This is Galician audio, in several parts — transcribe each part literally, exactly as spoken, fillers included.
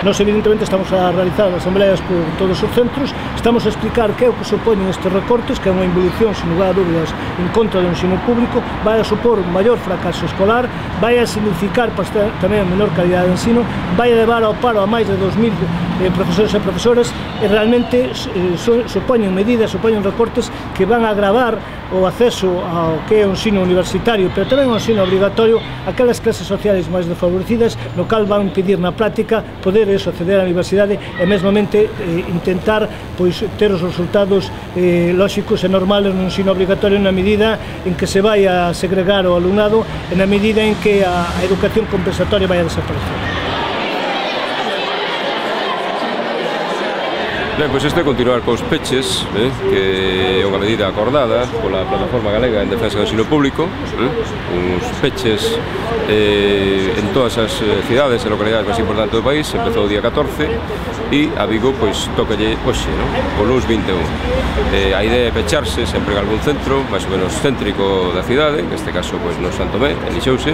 Nós, evidentemente, estamos a realizar asambleas por todos os centros, estamos a explicar que é o que supoñen estes recortes, que é unha involución, sin lugar a dúbidas, en contra do ensino público, vai a supor un maior fracaso escolar, vai a significar tamén a menor calidad de ensino, vai a levar ao paro a máis de dos mil eh, profesores e profesoras, e realmente eh, supoñen medidas, supoñen recortes que van a agravar o acceso ao que é o ensino universitario, pero tamén o ensino obrigatorio aquelas clases sociais máis desfavorecidas, no cal van impedir na práctica poder eso, acceder á universidade e mesmamente eh, intentar pois, ter os resultados eh, lóxicos e normales no ensino obrigatorio na medida en que se vai a segregar o alumnado e na medida en que a, a educación compensatoria vai a desaparecer. Ben, pois isto é continuar cos peches, eh, que é unha medida acordada pola Plataforma Galega en Defensa do Ensino Público, eh, uns peches eh, en todas as cidades e localidades máis importantes do país. Empezou o día catorce e a Vigo pois tocalle hoxe, non? O luns vinte e un. Eh, a idea é pecharse sempre en algún centro máis ou menos céntrico da cidade, neste caso pois no Santo Tomé, en Lixouse,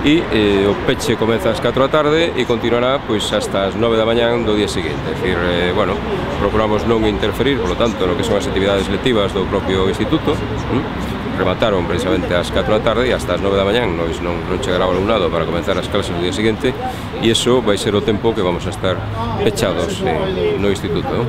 e eh, o peche comeza ás catro da tarde e continuará pois hasta as nove da mañán do día seguinte. É dicir, eh, bueno, procuramos non interferir, polo tanto, no que son as actividades lectivas do propio instituto. ¿Mm? Remataron precisamente ás catro da tarde e hasta as nove da mañán non, non chegará o alumnado para comenzar as clases do día seguinte, e iso vai ser o tempo que vamos a estar pechados eh, no instituto, ¿no?